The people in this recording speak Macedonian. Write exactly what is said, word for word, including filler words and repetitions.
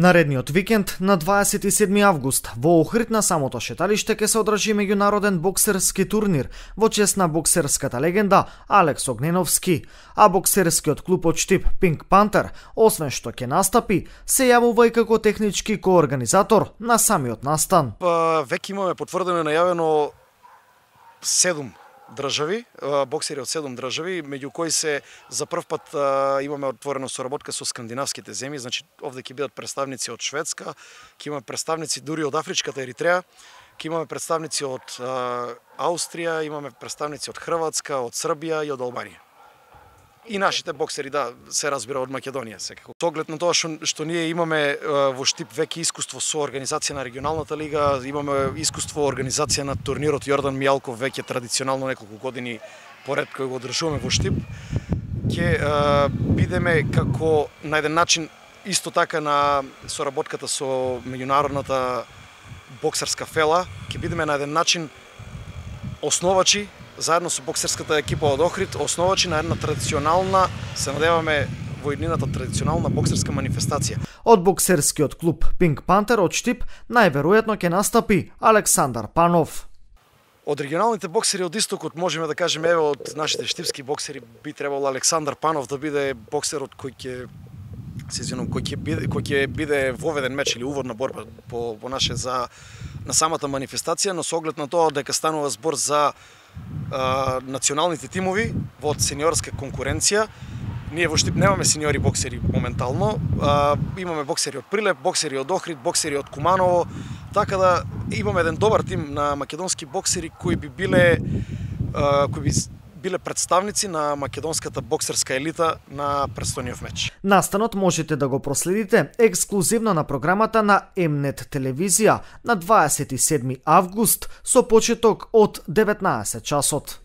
Наредниот викенд на дваесет и седми август во Охрид на самото шеталиште ќе се одржи меѓународен боксерски турнир во чест на боксерската легенда Алекс Огненовски, а боксерскиот клуб од Штип Pink Panther, освен што ќе настапи, се јавува и како технички коорганизатор на самиот настан. Па, веќе имаме потврдено и најавено седум држави, боксери од седум држави, меѓу кои се за прв пат имаме отворена соработка со скандинавските земји, значи овде ќе бидат представници од Шведска, ќе имаме представници дури од Афричката Еритреја, ќе имаме представници од Аустрија, имаме представници од Хрватска, од Србија и од Албанија. И нашите боксери, да, се разбира од Македонија секако. Со оглед на тоа што, што ние имаме во Штип веќе искуство со организација на регионалната лига, имаме искуство организација на турнирот Јордан Мијалков веќе традиционално неколку години поред кој го одржуваме во Штип, ќе бидеме како на еден начин исто така на соработката со меѓународната боксерска фела, ќе бидеме на еден начин основачи заедно со боксерската екипа од Охрид, основачи на една традиционална, се надеваме во иднината традиционална боксерска манифестација. Од боксерскиот клуб Pink Panther од Штип најверојатно ќе настапи Александар Панов. Од регионалните боксери од истокот можеме да кажеме, еве од нашите штипски боксери би требало Александар Панов да биде боксерот кој ќе се извинувам, кој ќе биде кој ќе биде воведен меч или уводна борба по по наше за на самата манифестација, но со оглед на тоа дека станува збор за а, националните тимови во сениорска конкуренција. Ние во Штип немаме сениори боксери моментално, а, имаме боксери од Прилеп, боксери од Охрид, боксери од Куманово, така да имаме еден добар тим на македонски боксери кои би биле а, кои би биле представници на македонската боксерска елита на престојниот меч. Настанот можете да го проследите ексклузивно на програмата на М-нет телевизија на дваесет и седми август со почеток од деветнаесет часот.